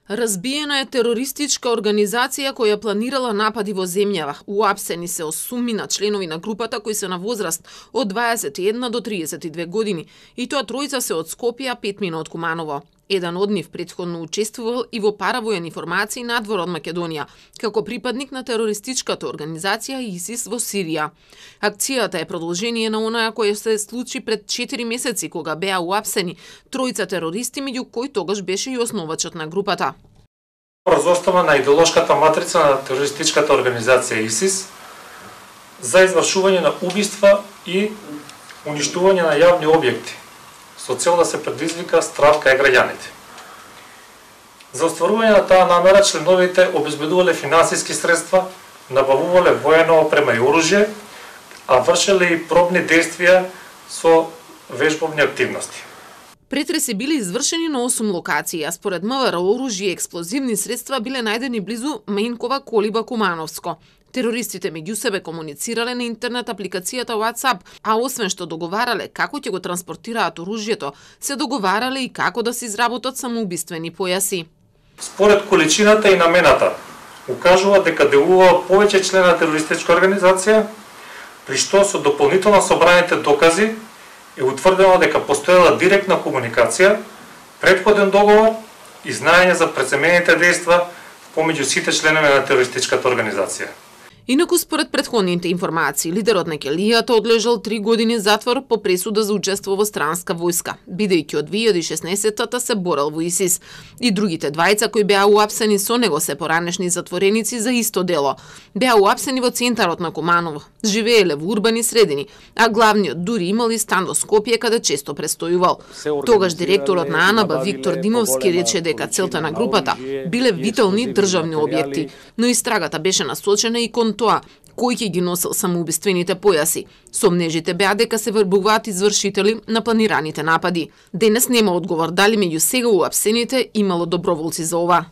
Разбиена е терористичка организација која планирала напади во земјава. Уапсени се 8 членови на групата кои се на возраст од 21 до 32 години, и тоа тројца се од Скопје, 5 мина од Куманово. Еден од нив претходно учествувал и во паравојни формации надвор од Македонија, како припадник на терористичката организација ИСИС во Сирија. Акцијата е продолжение на онаја која се случи пред 4 месеци, кога беа уапсени тројца терористи, меѓу кои тогаш беше и основачот на групата. Врз основа на идеолошката матрица на терористичката организација ИСИС за извршување на убиства и уништување на јавни објекти, со цел да се предизвика страв кај граѓаните. За остварување на таа намера членовите обезбедувале финансиски средства, набавувале воена опрема и оружје, а вршеле и пробни действија со вежбовни активности. Претреси биле извршени на 8 локации, а според МВР оружје и експлозивни средства биле најдени близу Менкова колиба Кумановско. Терористите меѓу себе комуницирале на интернет апликацијата WhatsApp, а освен што договарале како ќе го транспортираат оружјето, се договарале и како да се изработат самоубиствени појаси. Според количината и намената, укажува дека делува повеќе члена на терористичка организација, при што со дополнително собраните докази е утврдено дека постоела директна комуникација, претходен договор и знаење за преземените дејства помеѓу сите членови на терористичката организација. Инаку според претходните информации, лидерот на Келијата одлежал 3 години затвор по пресуда за учество во странска војска, бидејќи од 2016-та се борел во ИСИС. И другите двајца кои беа уапсени со него се поранешни затвореници за исто дело. Беа уапсени во центарот на Куманово, живееле во урбани средини, а главниот дури имал и стан во Скопје каде често престојувал. Тогаш директорот на АНБ Виктор Димовски рече дека целта на групата биле витални државни објекти, но истрагата беше насочена и кон тоа кој ќе ги носел самоубиствените појаси. Сомнежите беа дека се вербуваат извршители на планираните напади. Денес нема одговор дали меѓу сега уапсените имало доброволци за ова.